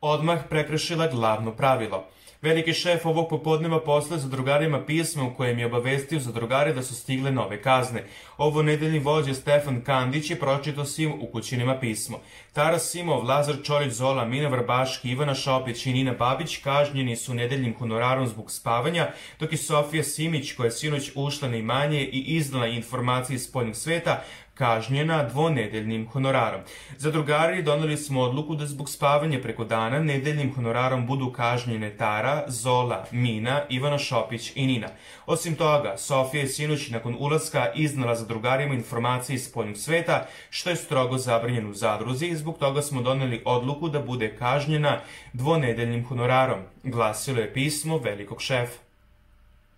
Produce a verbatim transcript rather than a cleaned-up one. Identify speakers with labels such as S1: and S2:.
S1: odmah prekršila glavno pravilo. Veliki šef ovog popodneva poslao zadrugarima pismo u kojem je obavestio zadrugare da su stigle nove kazne. Ovo nedeljni vođa Stefan Kandić je pročitao svim ukućinima pismo. Taras Simov, Lazar Čolić, Zola, Mina Vrbaški, Ivana Šopić i Nina Babić kažnjeni su nedeljnim honorarom zbog spavanja, dok je Sofija Simić, koja je sinoć ušla na imanje i iznala informacije iz spoljnog sveta, kažnjena dvonedeljnim honorarom. Zadrugari doneli smo odluku da zbog spavanja preko dana nedeljnim honorarom budu kažnjene Tara, Zola, Mina, Ivana Šopić i Nina. Osim toga, Sofija je sinoć nakon ulaska iznala zadrugarima informacije iz spoljnog sveta, što je strogo zabranjeno u zadruzi i zbog toga smo doneli odluku da bude kažnjena dvonedeljnim honorarom, glasilo je pismo velikog šefa.